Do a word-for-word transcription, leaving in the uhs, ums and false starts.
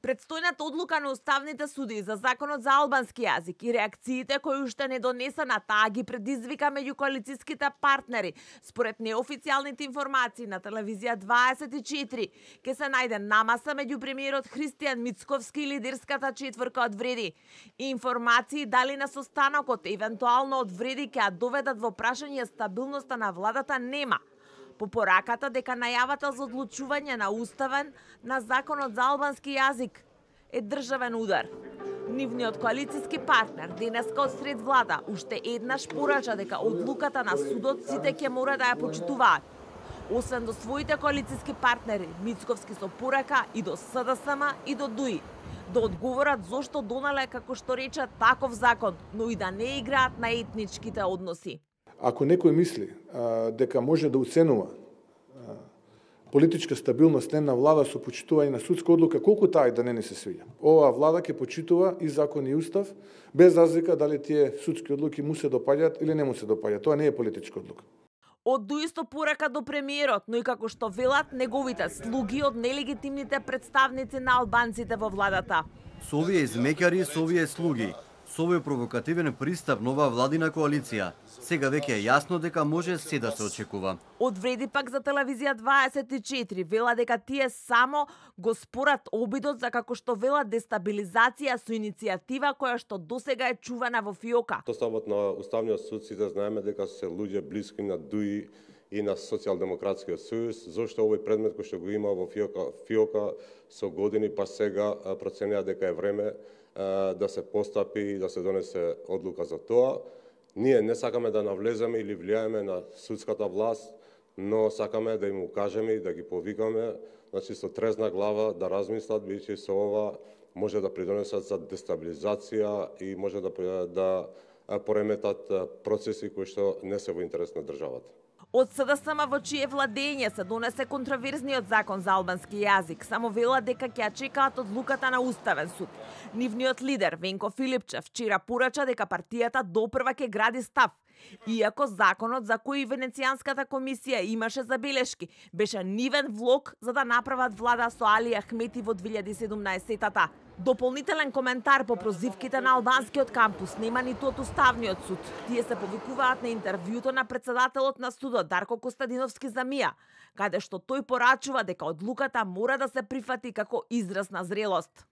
Предстојната одлука на уставните суди за законот за албански јазик и реакциите кои уште не донесена таа ги предизвика меѓу коалициските партнери. Според неофицијалните информации на телевизија дваесет и четири, ке се најде намаса меѓу премиерот Христијан Мицковски и лидерската четворка од Вреди. Информации дали на состанокот евентуално од Вреди ќе ја доведат во прашање стабилноста на владата нема. По пораката дека најавата за одлучување на уставен на законот за албански јазик е државен удар. Нивниот коалициски партнер денеска од сред влада уште еднаш порача дека одлуката на судот сите ќе мора да ја почитуваат. Освен до своите коалициски партнери, Мицковски со порака и до СДСМ и до ДУИ, да одговорат зошто донале, како што рече, таков закон, но и да не играат на етничките односи. Ако некој мисли а, дека може да уценува а, политичка стабилност на влада со почитување на судска одлука, колку таа и да не ни се свиѓа. Оваа влада ќе почитува и закон и устав, без разлика дали тие судски одлуки му се допаѓаат или не му се допаѓаат. Тоа не е политичка одлука. Од дуисто порака до премиерот, но и како што велат неговите слуги од нелегитимните представници на албанците во владата. Со овие измеќари, со овие слуги, со овој провокативен пристап нова владина коалиција, сега веќе е јасно дека може се да се очекува. Од Вреди пак за телевизија дваесет и четири вела дека тие само го спорат обидот за, како што вела, дестабилизација со иницијатива која што досега е чувана во фиока. Составот на Уставниот суд сите знаеме дека се луѓе блиски на ДУИ и на Социјалдемократскиот сојуз. Зошто овој предмет кој што го има во фиока, фиока со години па сега проценија дека е време да се постапи и да се донесе одлука за тоа. Ние не сакаме да навлеземе или влијаеме на судската власт, но сакаме да им укажеме и да ги повикаме, значи со трезна глава да размислат, бидејќи со ова може да придонесат за дестабилизација и може да да пореметат процеси кои што не се во интерес на државата. Од СДСМ во чие владење се донесе контроверзниот закон за албански јазик, само вела дека ќе чекаат одлуката на Уставен суд. Нивниот лидер Венко Филипчев вчера порача дека партијата допрва ќе гради став, иако законот за кој Венецијанската комисија имаше забелешки, беше нивен влог за да направат влада со Али Ахмети во две илјади и седумнаесетата. Дополнителен коментар по прозивките на албанскиот кампус нема ниту од Уставниот суд. Тие се повикуваат на интервјуто на председателот на судот Дарко Костадиновски за МИА, каде што тој порачува дека одлуката мора да се прифати како израз на зрелост.